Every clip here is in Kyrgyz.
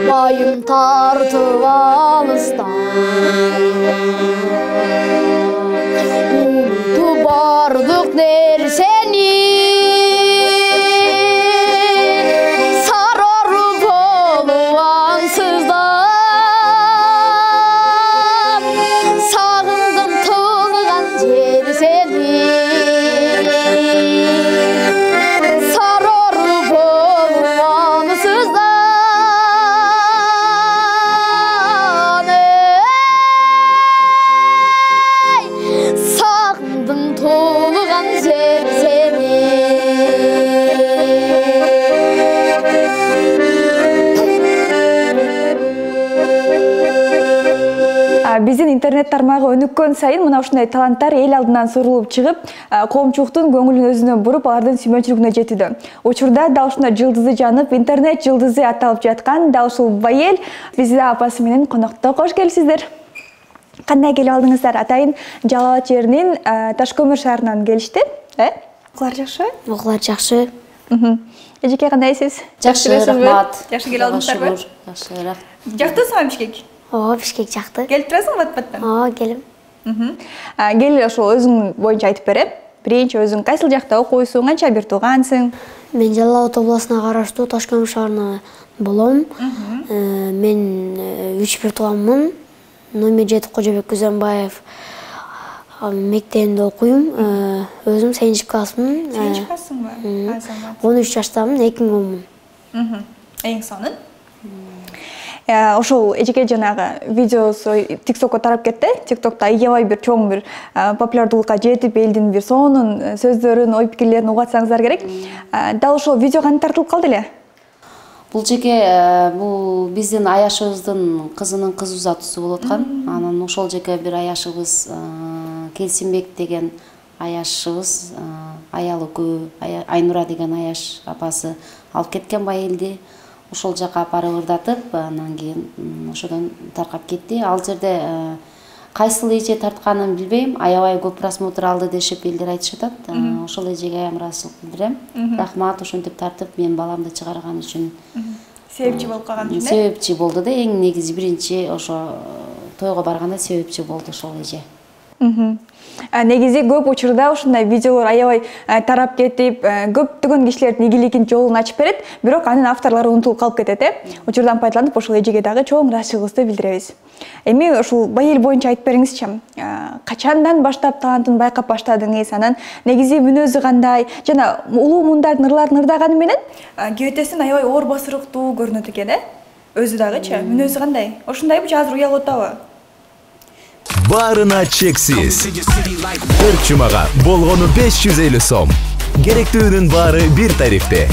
байым тартып алыстан унутуп бардык нерсени сарору болуп аңсыздап сагындым туулган жер сени сарору болуп аңсыздан сагындым туулган жер сени. Биздин интернет тармагы өнүккөн сайын мына ушундай таланттар эл алдынан сурулуп чыгып, коомчулуктун көңүлүн өзүнө буруп, алардын сүймөнчүлүгүнө жетүүдө. Учурда дал ушундай жылдызы жанып, интернет жылдызы аталып жаткан дал ушул Байел Визида апасы менен конокто. Кош келипсиздер. Кандай келип алдыңыздар? Атайын Жалал Абад жеринин Ташкөмүр шаарынан келишти, Окуулар жакшы? Окуулар жакшы. Эжеке кандайсыз? Жакшы, рахмат. Жакшы келип алдыңыздарбы? Жакшы, рахмат. Жактыңызбы Бишкек? Ооба, Бишкек жакты. Келип турасыңбы Батбаттан? Ооба, келем. Кел ошол өзүң боюнча айтып берем. Биринчи өзүң кайсыл жакта окуйсуң, канча бир туугансың? Мен Жалал Абад областына караштуу Ташкөмүр шаарына болом. Мен 3 бир тууганмын. Номер 7 Кожобек Күзөнбаев мектебинде окуйм. Өзүм 8 классмын. 8 классыңбы? 13 жаштамын, 2010мун. Эң сонун. Ошол эжеке жанагы видеосу TikTokко тарап кетти. TikTokто аябай бир чоң бир популярдуулукка жетип, элдин бир сонун сөздөрүн, ой пикирлерин угатсаңыздар керек. Дал ошол видео кантип тартылып калды эле? Бул жеке бул биздин аяшыбыздын кызынын кыз узатуусу болуп аткан. Анан ошол жеке бир аяшыбыз Келсинбек деген аяшыбыз, аялы көп, Айнура деген аяш апасы алып кеткен Байелди. Ошол жака апарып ырдатып, анан кийин ошодон таркап кетти. Ал жерде кайсыл эже тартканын билбейм, аябай көп просмотр алды дешип элдер айтышат. Ошол эжеге аябай ыраазычылык билдирем. Рахмат ошентип тартып мен баламды чыгарган үчүн. Себепчи болуп калган үчүн. Себепчи болду да, эң негизи биринчи ошо тойго барганда себепчи болду ошол эже. Негизи көп учурда ушундай видеолор аябай тарап кетип, көптөгөн кишилердин ийгилигин жолун ачып берет, бирок анын авторлору унутулуп калып кетет, Учурдан пайдаланып ошол эжеге дагы чоң ыраазычылыгыбызды билдиребиз. Эми ушул Байел боюнча айтып бериңизчи. Качандан баштап талантын байкап баштадыңыз? Анан негизи мүнөзү кандай? Жана улуу мундардын ырларын ырдаганы менен кебетесин аябай оор басырыктуу көрүнөт экен, Өзү дагычы, мүнөзү кандай? Ошундайбы же азыр уялып атабы? Барына чексиз. Бир чумага болгону 550 сом. Керектүүнүн баары бир тарифте.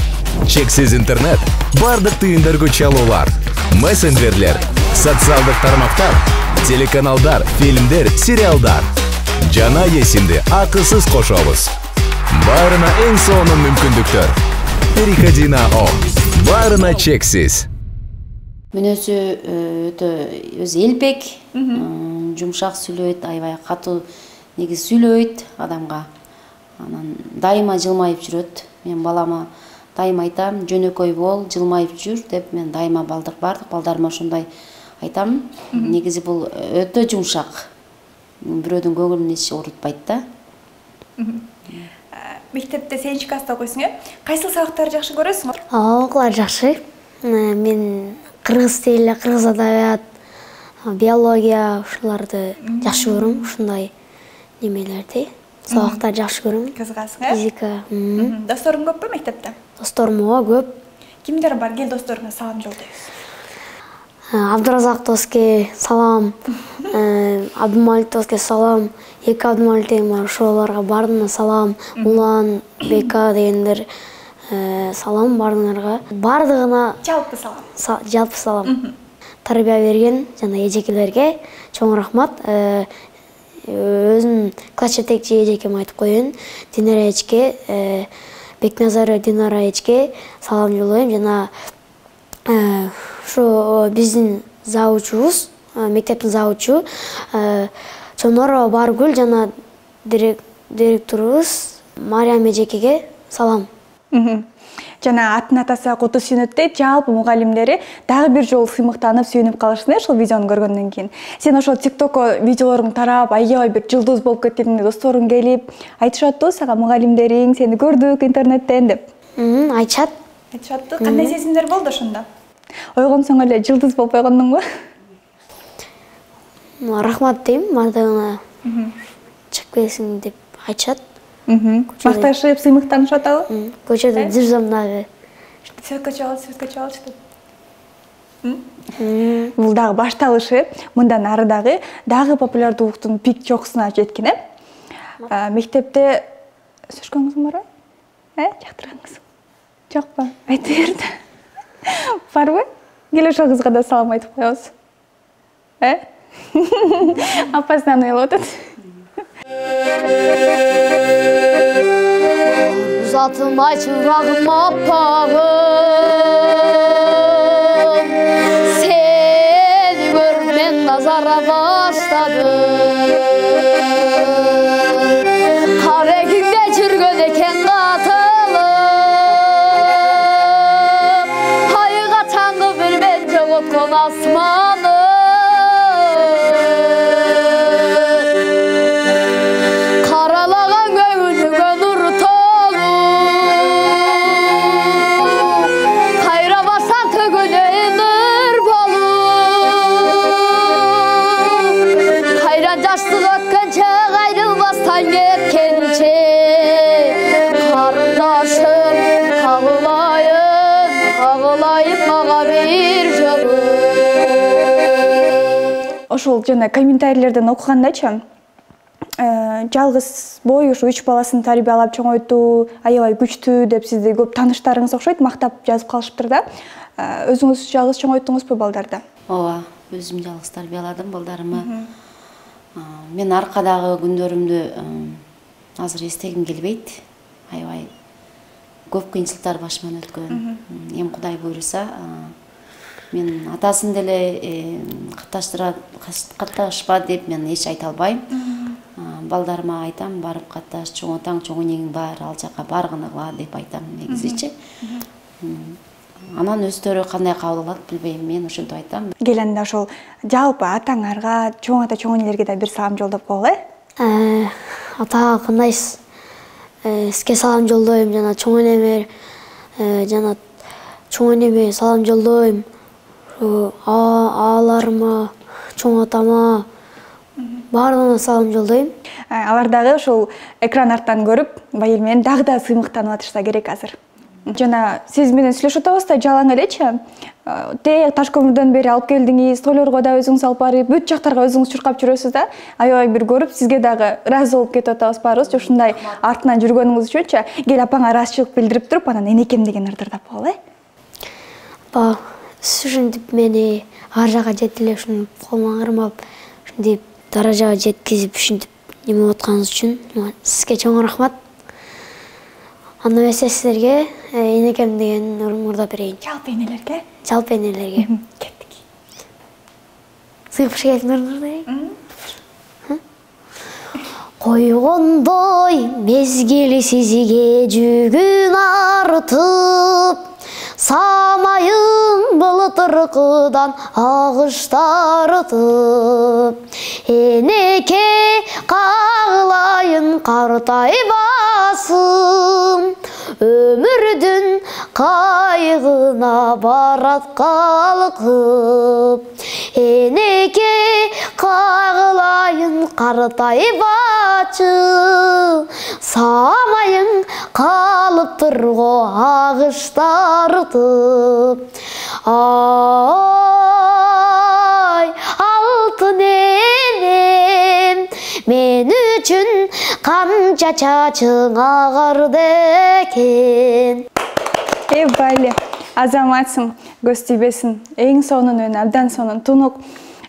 Чексиз интернет, бардык тыйындыргыч чалуулар, мессенджерлер, социалдык тармактар, телеканалдар, фильмдер, сериалдар. Жана эсимди акысыз кошобуз. Баарына эң сонун мүмкүндүктөр. Переходи на О. Баарына чексиз. Мүнөзү өтө өзү элпек, жумшак сүйлөйт, аябай катуу негиз сүйлөйт адамга. Анан дайыма жылмайып жүрөт. Мен балама дайыма айтам, жөнөкөй бол, жылмайып жүр деп мен дайыма бардык балдарыма ошондой айтам. Негизи бул өтө жумшак. Бирөөдүн көңүлүн эч оорутпайт да. Мектепте 8 класста окуйсуң, Кайсыл сабактарды жакшы көрөсүң? Окуулар жакшы. Мен кыргыз тили, кыргыз адабият, биология ушуларды жакшы көрөм, ушундай немелерди. Сабактар жакшы көрөм. Кызыгасың, Физика. Досторуң көппү мектепте? Досторум көп. Кимдер бар? Кел досторуңа салам жолдойбуз. Абдуразак доске салам, Абдумалик доске салам, эки Абдумаликтен бар, ошолорго баарына салам, Улан, Бека дегендер салам баарыңарга. Бардыгына Жалпы салам. Жалпы салам. Тарбия берген жана эжекелерге чоң рахмат. Өзүм класс жетекчи эжекем айтып коеюн. Динара эчке, Бекназарова Динара эчке салам жолдойм. Жана ушу биздин завучубуз, мектептин завучу Чонорова Баргүл жана директорубуз Мариям эжекеге салам. жана атын атаса куту сүйнөттөй жалпы мугалимдери дагы бир жолу сыймыктанып сүйүнүп калышты ушул видеону көргөндөн кийин. Сен ошол TikTokко видеолоруң тарап, аябай бир жылдыз болуп кеттиң, досторуң келип айтышаттыбы сага мугалимдериң, сени көрдүк интернеттен деп? Айтышат. Айтышатты. Кандай сезимдер болду ошондо? Ойгонсоң эле жылдыз болуп койгондуңбу? Рахмат дейм, бардыгына чыгып келесиң деп айтышат. Макташып, сыймыктанышып атабы? Көчөдө жүрсөм дагы. Светка чалчы деп. Бул дагы башталышы. Мындан ары дагы популярдуулуктун пик чокусуна жеткен, Мектепте сөчкөнгүң барбы? Жактыргансың? Жокпу? Айтып берди. Барбы? Кел ошол кызга да салам айтып коебуз. Апасынан уялып атат. Uzatım açırağım apağım, seni görmen nazara başladım. Kare günde çürgön eken katılım, hayıga çangı bir ben çoğutkun asmanı. Ошол жана комментарийлерден окугандачы, жалгыз бой ушу 3 баласын тарбиялап чоңойтуу аябай күчтүү деп сизди көп тааныштарыңыз окшойт, мактап жазып калышыптыр да. Өзүңүз жалгыз чоңойттуңузбу балдарды? Ооба, өзүм жалгыз тарбияладым балдарымы. Мен аркадагы күндөрүмдү азыр эстегим келбейт. Аябай көп кыйынчылыктар башыман өткөн. Эми Кудай буйруса, мен атасын деле катташпа деп мен эч айта албайм. Балдарыма айтам, барып катташ, чоң атаң, чоң энеңиң бар, ал жака баргыныгыла деп айтам негизичи. Анан өздөрү кандай кабыл алат билбейм, мен ошентип айтам. Келенде ошол жалпы атаңарга, чоң ата, чоң энелерге да бир салам жолдоп койгула. Атага кандайсыз? Сизге салам жолдойм, жана чоң энеме, жана чоң энеме салам жолдойм. Ааларыма, чоң атама, баарына салам жолдойм. Алар дагы ошол экран арттан көрүп, байыл менен дагы да сыймыктанып атышса керек азыр. Жана сиз менен сүйлөшүп атабыз да жалаң элечи. Тээ Таш көмүрдөн бери алып келдиңиз, тойлорго да өзүңүз алып барып, бүт жактарга өзүңүз чуркап жүрөсүз да. Аябай бир көрүп, сизге дагы ыраазы болуп кетип атабыз баарыбыз. Ушундай артынан жүргөнүңүз үчүнчү кел апаңа ыраазычылык билдирип туруп, анан энекем деген ырдырдап койгула. Апа, сиз ушинтип мени ар жака жетип эле ушинтип колума кырмап, ушинтип даражага жеткизип ушинтип неме атканыңыз үчүн сизге чоң рахмат. Анда эмесе силерге энекем деген ырдап берейин. Жалпы энелерге? Жалпы энелерге. Кеттик. Сыйгып келип ырдайын. Койгондой мезгили сизге жүгүн артып, самайын былтыркыдан агыштартып, энеке кагылайын картайбасым, өмүрдүн кайгына барат калкып, энеке кагылайын картайбачы, самайың калыптыр го агыштартып. Ай, алтын энем, мен үчүн канча чачың агарды экен. Бале, азаматсың, көз тийбесин, эң сонун, абдан сонун, тунук.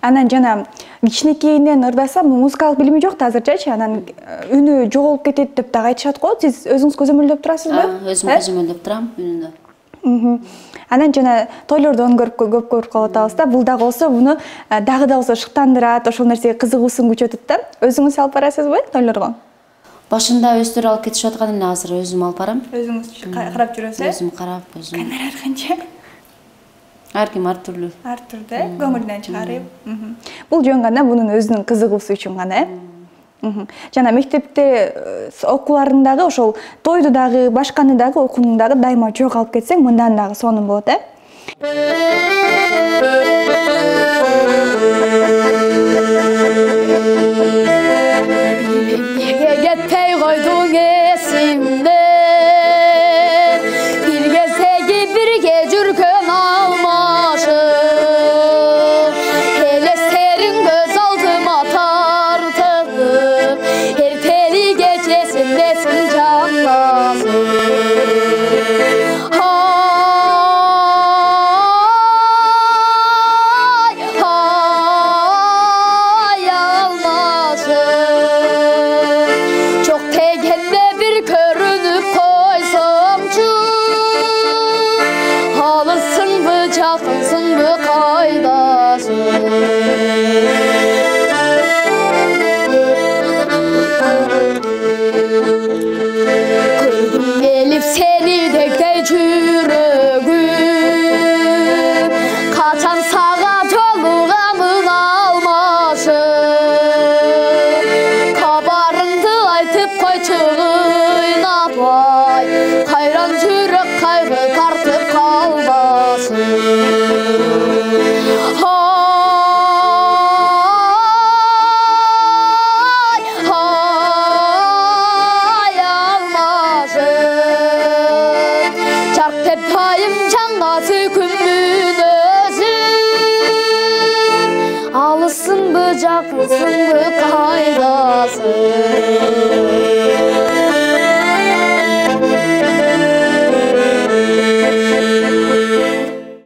Анан жана кичинекейинен ырдаса, музыкалык билими жок да азырчачы, анан үнү жоголуп кетет деп дагы айтышат го. Сиз өзүңүз көзөмөлдөп турасызбы? Өзүм көзөмөлдөп турам үнүндө. Анан жана тойлордон көп көрүп калып атабыз да. Бул дагы болсо буну дагы да болсо шыктандырат, ошол нерсеге кызыгуусун күчөтөт да. Өзүңүз алып барасызбы тойлорго? Башында өздөрү алып кетишип аткан эле, азыр өзүм алып барам. Өзүңүз карап жүрөсүз? Өзүм карап, өзүм. Камера канча? Ар ким ар түрлүү. Ар түрдө, көңүлдөн чыгарып. Бул жөн гана бунун өзүнүн кызыгуусу үчүн гана, Жана мектепте окууларындагы ошол тойду дагы, башканы дагы, окууну дагы дайыма жок алып кетсең, мындан дагы сонун болот, Кетпей койдуң эсимден, бир кездеги бирге жүргөн алмашып, элестериң көз алдыма тартып, эртели кечесиндесиң жанасың.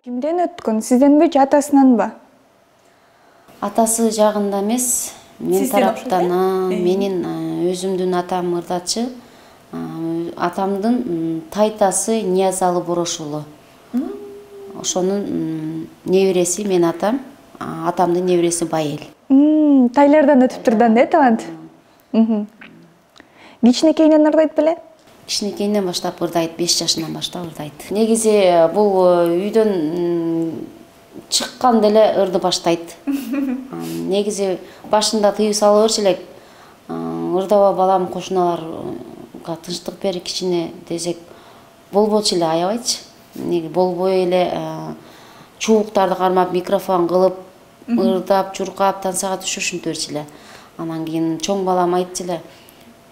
Кимден өткөн? Сизденби же атасынанбы? Атасы жагында эмес, мен тараптан, менин өзүмдүн атам ырдачы, атамдын тайтасы Ниязалы Борош уулу. Ошонун небереси мен атам, атамдын небереси Байел. Тайлардан өтүп турдан талант. Кичинекейинен ырдайт беле? Кичинекейинен баштап ырдайт, 5 жашынан баштап ырдайт. Негизи бул үйдөн чыккан деле ырды баштайт. Негизи башында тыюу салып берчү элек, ырдаба балам, кошуналарга тынчтык бери кичине десек болбочу эле, аябайчы. Неги болбой эле чубуктарды кармап, микрофон кылып, ырдап, чуркап, тансага түшүп ушинтип берчү эле. Анан кийин чоң балам айтчу эле,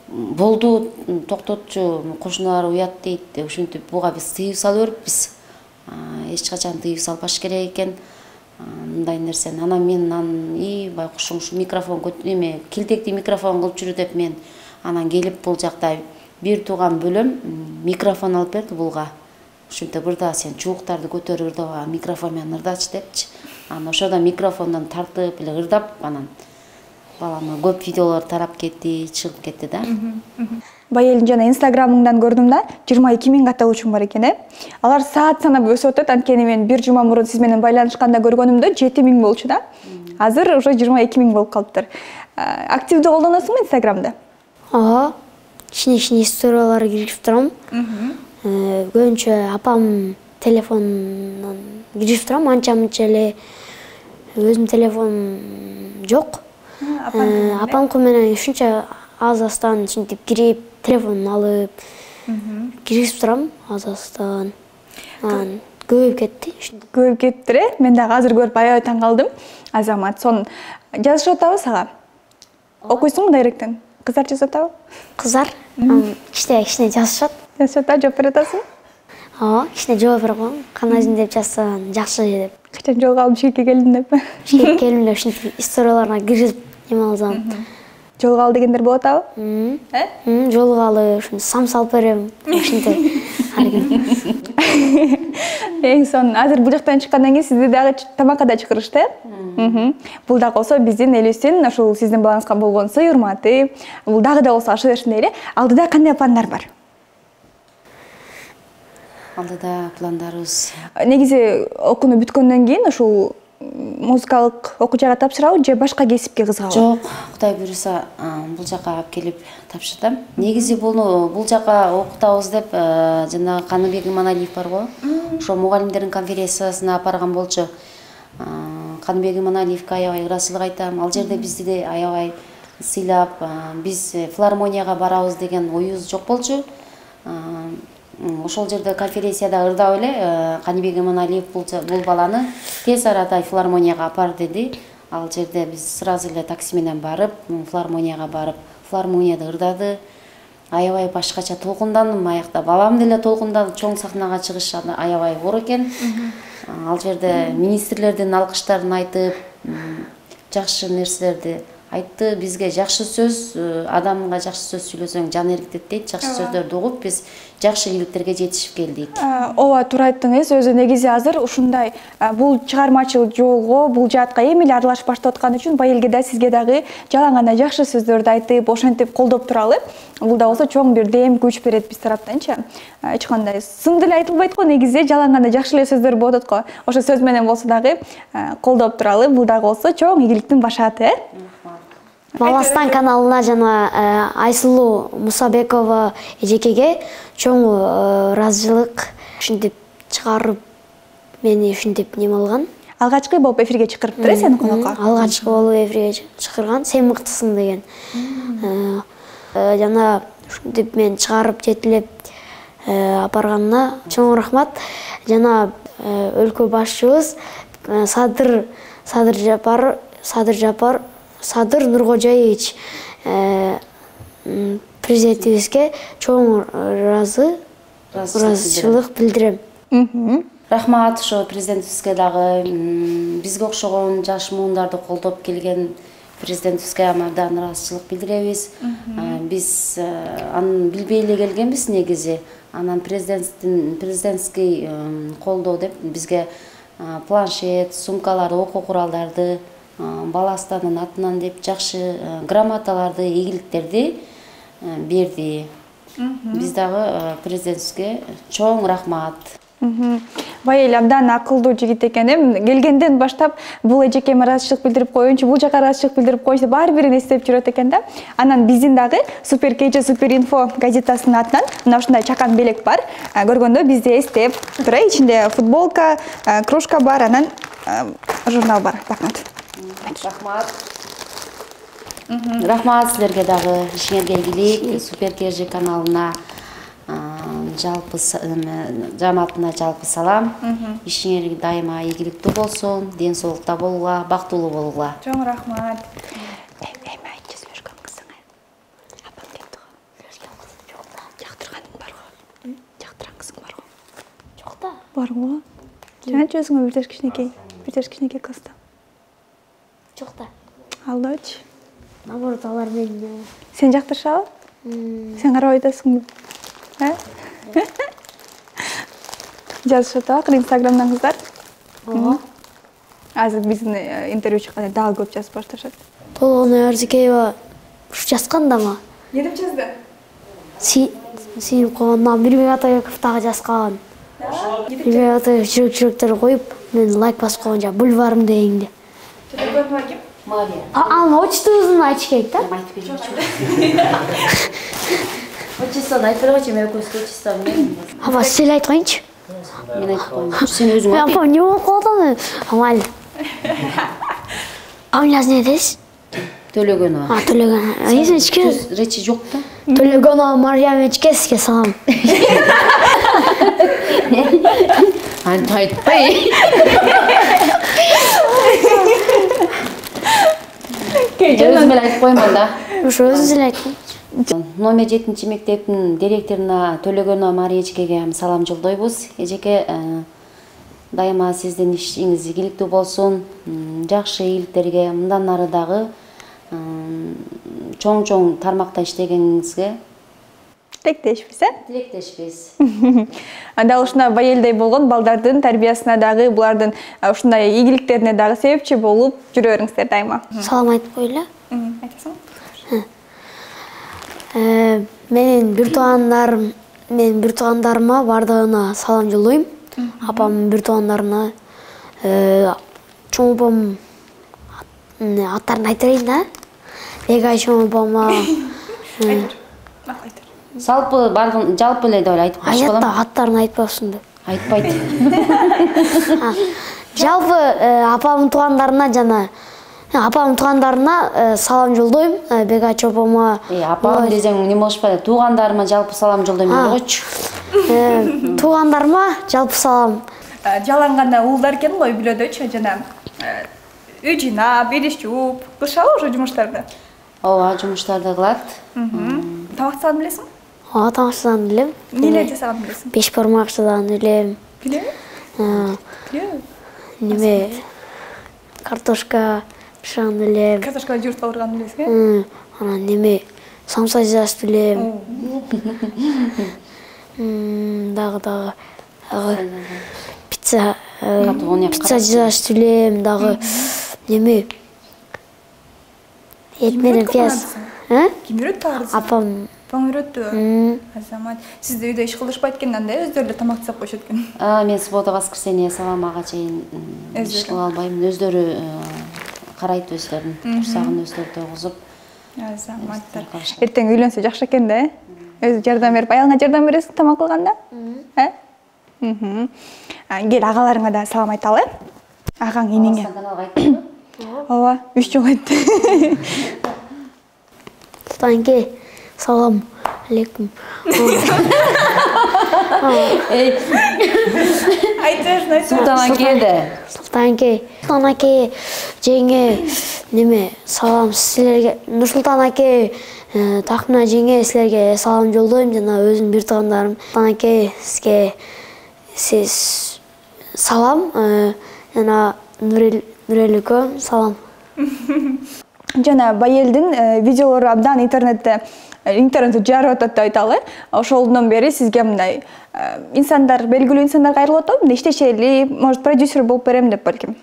болду, токтотчу, кошуналар уят дейт деп ушинтип, буга биз тыюу салып бериппиз. Эч качан тыюу салбаш керек экен, мындай нерсени. Анан мен байкушуң ушу микрофон эме килтекти микрофон кылып жүрү деп мен анан келип бул жакта бир тууган бөлөм микрофон алып берди булга. Ушинтип ырда, сен чубуктарды көтөрүп ырдаба, микрофон менен ырдачы депчи. Анан ошодо микрофондон тартып эле ырдап, анан балама көп видеолор тарап кетти, чыгып кетти да. Байелдин жана инстаграмыңдан көрдүм да, 22 000 катталуучуң бар экен, Алар саат санап өсүп атат, анткени мен бир жума мурун сиз менен байланышканда көргөнүмдө 7 000 болчу да. Азыр уже 22 000 болуп калыптыр. Активдүү колдоносуңбу инстаграмды? Ооба, кичине историялар киргизип турам. Көбүнчө апам телефонунан киргизип турам, анча-мынча эле өзүм телефон жок. Апамку менен ушунча аз-аздан ушинтип кирип, телефонун алып киргизип турам аз-аздан. Көбөйүп кетти. Көбөйүп кеттир, Мен дагы азыр көрүп аябай таң калдым. Азамат, сонун жазышып атабы сага? Окуйсуңбу дайректен? Кыздар жазып атабы? Кыздар кичине жазышат. Жазышат, жооп берип атасың? Ооба, кичине жооп берип коем. Кандайсың деп жазсаң, жакшы деп. Качан жолго алып Бишкекке келдиң деп? Бишкекке келдим деп ушинтип историяларына киргизип эме алсам. Жолго ал дегендер болот абы? Жолго алып, ушинтип сам салып берем. Ушинтип ар ким. Эң сонун. Азыр бул жактан чыккандан кийин сизди дагы тамакка да чакырышты, Бул дагы болсо биздин элибиздин ошол сиздин балаңызга болгон сый урматы. Бул дагы да болсо аша берсин дейли. Алдыда кандай пландар бар? Алдыда пландарыбыз. Негизи окууну бүткөндөн кийин ушул музыкалык окуу жайга тапшырабы же башка кесипке кызыгабы? Жок, Кудай буюрса, бул жака алып келип тапшырдым. Негизи бул жака окутабыз деп жанагы Каныбек Иманалиев барго. Ошо мугалимдердин конференциясына апарган болчу. Каныбек Иманалиевке аябай ыраазычылык айтам. Ал жерде бизди де аябай сыйлап, биз филармонияга барабыз деген оюбуз жок болчу. Ошол жерде конференцияда ырдап эле Каныбек Иманалиев бул баланы тез арада филармонияга апар деди. Ал жерде биз сразу эле такси менен барып, филармонияга барып, филармонияда ырдады. Аябай башкача толкундандым аякта. Балам деле толкунданып, чоң сахнага чыгыш аябай оор экен. Ал жерде министрлердин алкыштарын айтып, жакшы нерселерди айтты. Бизге жакшы сөз, адамга жакшы сөз сүйлөсөң жан эргитет дейт. Жакшы сөздөрдү угуп, биз жакшы ийгиликтерге жетишип келдик. Ооба, туура айттыңыз. Өзү негизи азыр ушундай бул чыгармачыл жолго, бул жаатка эми эле аралашып баштап аткан үчүн Байелге да сизге дагы жалаң гана жакшы сөздөрдү айтып, ошентип колдоп туралы. Бул да болсо чоң бир дем, күч берет биз тараптанчы. Эч кандай сын деле айтылбайт го, негизи жалаң гана жакшы эле сөздөр болот го. Ошо сөз менен болсо дагы колдоп туралы. Бул дагы болсо чоң ийгиликтин башаты. Баластан каналына жана Айсулуу Мусабекова эжекеге чоң ыраазычылык, ушинтип чыгарып мени ушинтип неме алган. Алгачкы болуп эфирге чакырыптыр сени конокко. Алгачкы болуп эфирге чакырган, сен мыктысың деген. Жана ушинтип мен чыгарып жетилеп апарганына чоң рахмат. Жана өлкө башчыбыз Садыр Нуркожоевич президентибизге чоң ыраазычылык билдирем. Рахмат ошо президентибизге дагы, бизге окшогон жаш муундарды колдоп келген президентибизге абдан ыраазычылык билдиребиз. Биз аны билбей эле келгенбиз негизи. Анан президентский колдоо деп бизге планшет, сумкаларды, окуу куралдарды Баластанын атынан деп жакшы грамоталарды, ийгиликтерди берди. Биз дагы президентибизге чоң рахмат. Байел абдан акылдуу жигит экен. Келгенден баштап бул эжекеме ыраазычылык билдирип коеюнчу, бул жака ыраазычылык билдирип коеюнчу деп баары бирин эстеп жүрөт экен да. Анан биздин дагы Супер Кече, Супер Инфо газетасынын атынан мына ушундай чакан белек бар. Көргөндө бизди эстеп тура, ичинде футболка, кружка бар, анан журнал бар. Рахмат. Рахмат силерге дагы, ишиңерге ийгилик. Супер Кече каналына жалпы жамаатына жалпы салам. Ишиңер дайыма ийгиликтүү болсун, ден соолукта болгула, бактылуу болгула. Чоң рахмат. Эми айтчы сөйлөшкөн кызыңа. Апам кетти го. Жактырганың барго? Жактырган кызың барго? Жок да. Барго? Жана өзүңө бир кичинекей кызды. Жок да. Алдачы. Наоборот, алар мени. Сен жактырышабы? Сен карабай атасыңбы? Жазышат акыр Инстаграмдан кыздар. Ооба. Азыр биздин интервью чыкканда дагы көп жазып башташат. Толгоной Арзыкеева ушу жазган да ма? Не деп жазды? Сүйүнүп койгондон Мирбек Атабеков дагы жазган. Мирбек Атабеков жүрөк-жүрөктөр коюп, мен лайк басып койгон жа бульварым дегенде. Телефонума ким? Мария. Анын отчествосун айтыш керек да? Айтып берчү. Отчествону айтып койчу, мен өкүмсүз отчество мен. Апа, сен айтып коюңчу. Мен айтып коеюн. Сен өзүң айт. Апа, не болуп калды? Амал. Фамилиясы не десиз? Төлөгөнова. Төлөгөнова. Эсичке. Речи жок да. Төлөгөнова Мариямичке сизге салам. Айтпай. Өзүм эле айтып коймон да. Ошо өзүңүз эле айтыңыз. Номер 7-мектептин директоруна Төлөгөнова Мариячкеге салам жолдойбуз. Эжеке, дайыма сиздин ишиңиз ийгиликтүү болсун, жакшы ийгиликтерге, мындан ары дагы чоң тармакта иштегениңизге Тилектешпиз, Тилектешпиз. Анда ушундай Байелдей болгон балдардын тарбиясына дагы, булардын ушундай ийгиликтерине дагы себепчи болуп жүрө бериңиздер дайыма. Салам айтып коелу. Айтасың? Менин бир туугандарыма бардыгына салам жолдойм. Апамдын бир туугандарына чоң апам аттарын айта берейин да. Бегай чоң апама. Салпы бардын жалпы эле деп айтып коюш болом. Аятта аттарын айтпапсың деп. Айтпайт. Жалпы апамдын туугандарына салам жолдойм. Бегай апама. Апам десең неме болушпайт. Туугандарыма жалпы салам жолдойм деп койчу. Туугандарыма жалпы салам. Жаланганда уулдар экен го үйлөдөчү жана үй жыйнап, идиш жууп, кылышабы ошо жумуштарды? Ооба, жумуштарды кылат. Тамак жасаган билесиңби? Ооба, тамак жасаган билем. Эмне жасаган билесиң? Беш бармак жасаган билем. Билеби? Неме картошка пышаган билем. Картошка жууртуп алган билесиңби? Анан неме самса жасаш билем. Дагы пицца жасаш билем, дагы неме эт менен пияз. Ким үйрөттү арыз? Апам. Апаң үйрөттү. Азамат. Сизде үйдө иш кылышпайт экен анда, өздөрү эле тамак жасап коюшат экен. Мен суббота, воскресенье сабамага чейин иш кыла албайм. Өздөрү карайт, өздөрүн курсагын өздөрү тойгузуп. Азаматтар. Эртең үйлөнсө жакшы экен да, өзү жардам берип, аялыңа жардам бересиң тамак кылганда? Кел агаларыңа да салам айталы. Агаң энеңе. Ооба, 3 жолу айтты. Султанке, салам алейкум. Айтыңыз, Султан аке, жеңе, неме, салам силерге. Нурсултан аке, Тахмина жеңе, силерге салам жолдойм жана өзүмдүн бир туугандарым. Султан аке, сизге салам, жана Нуреликө салам. Жана Байелдин видеолору абдан интернетте жарып атат деп айталы. Ошолдон бери сизге мындай инсандар, белгилүү инсандар кайрылып атат, мындай иштешели, может продюсер болуп берем деп балким.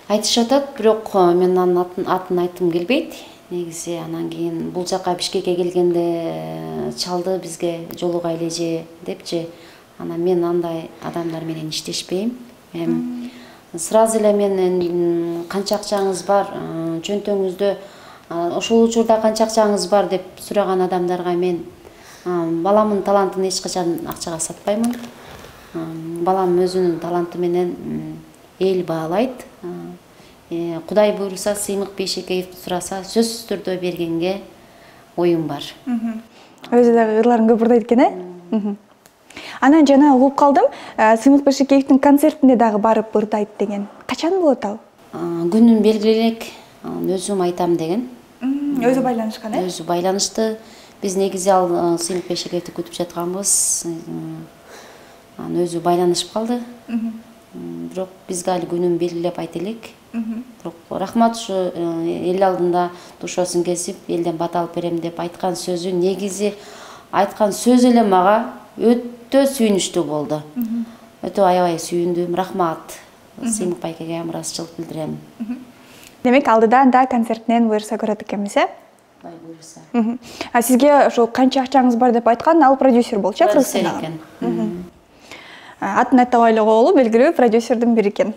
Айтышып атат, бирок мен анын атын айткым келбейт. Негизи анан кийин бул жака Бишкекке келгенде чалды бизге жолугайлы же депчи. Анан мен андай адамдар менен иштешпейм. Сразу эле мен канча акчаңыз бар, чөнтөгүңүздө ошол учурда канча акчаңыз бар деп сураган адамдарга мен баламдын талантын эч качан акчага сатпаймын. Балам өзүнүн таланты менен эл баалайт. Кудай буйруса, Сыймык Бейшекеевди сураса, сөзсүз түрдө бергенге оюм бар. Өзү дагы ырларын көп ырдайт экен, Анан жана угуп калдым, Сыймык Бейшекеевдин концертине дагы барып ырдайт деген. Качан болот ал? Күнүн белгилелек, өзүм айтам деген. Өзү байланышкан, Өзү байланышты. Биз негизи ал Сыймык Бейшекеевди күтүп жатканбыз. Өзү байланышып калды. Бирок бизге али күнүн белгилеп айта элек. Бирок рахмат, ушу эл алдында душоосун кесип, элден бат алып берем деп айткан сөзү, негизи айткан сөз эле мага өтө сүйүнүчтүү болду. Өтө аябай сүйүндүм. Рахмат. Сыймык байкеге ыраазычылык билдирем. Демек, алдыдан да концертинен буйруса көрөт экенбиз, Бай буйруса. Сизге ошо канча акчаңыз бар деп айткан, ал продюсер болчу, Кыргызстанда экен. Атын айтабай эле коелу, белгилүү продюсердин бири экен.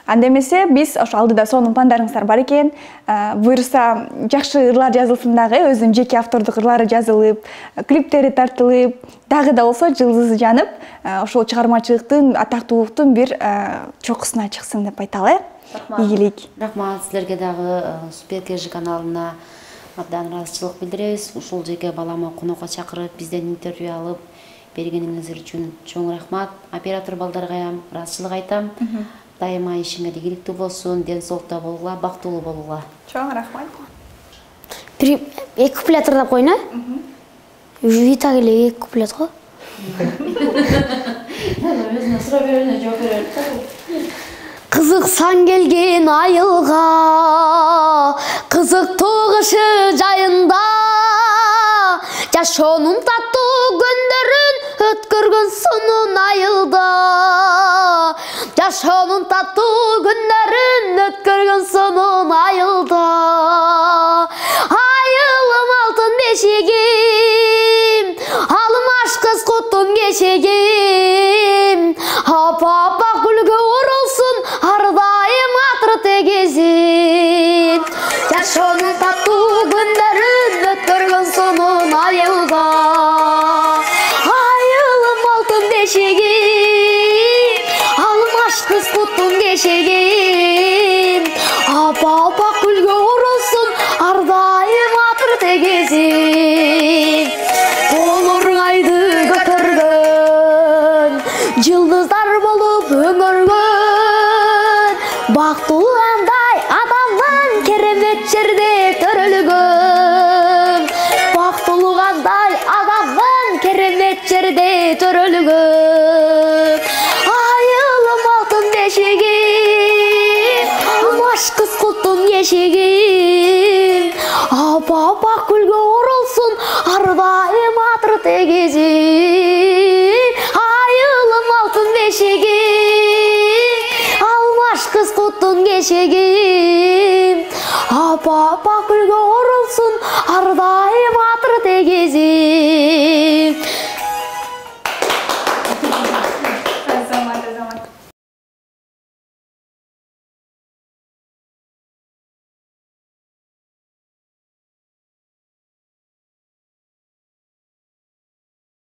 Анда эмесе биз ошо алдыда сонун пландарыңыздар бар экен. Буйруса жакшы ырлар жазылсын дагы, өзүнүн жеке автордук ырлары жазылып, клиптери тартылып, дагы да болсо жылдызы жанып, ошол чыгармачылыктын, атактуулуктун бир чокусуна чыксын деп айталы. Ийгилик. Рахмат, силерге дагы Суперкежи каналына абдан ыраазычылык билдиребиз. Ушул жерге баламы конокко чакырып, бизден интервью алып бергениңиздер үчүн чоң рахмат. Оператор балдарга ыраазычылык айтам. Дайыма ишиңер ийгиликтүү болсун, ден соолукта болгула, бактылуу болгула. Чоң рахмат. Бир эки куплет ырдап коюн, Вита эле эки куплет го. Өзүнө суроо берүүнө жооп берет. Кызыксан келген айылга, кызыктуу кышы жайында, жашоонун таттуу күндөрүн өткөргөн сонун айылда. Жашоонун таттуу күндөрүн өткөргөн сонун айылда. Айылым алтын бешигим, алмаш кыз куттун кешегим. Апа күлгө оролсун ар дайым бешегим, апа күлгө оролсун ар дайым атыр тегизим. Колуруң айды көтөргөн, жылдыздар болуп өңөргөн, бактылгандай адамдан керемет жерде төрөлгөн, бактылгандай адамдан керемет жерде төрөлгөн. Айылым алтын бешегим, маш кыз куттун ешегим, апа күлгө оролсун ар дайым атыр тегизим. Айылым алтын бешегим, алмаш кыз куттун кешегим, апа күлгө оролсун ар дайым атыр тегизим.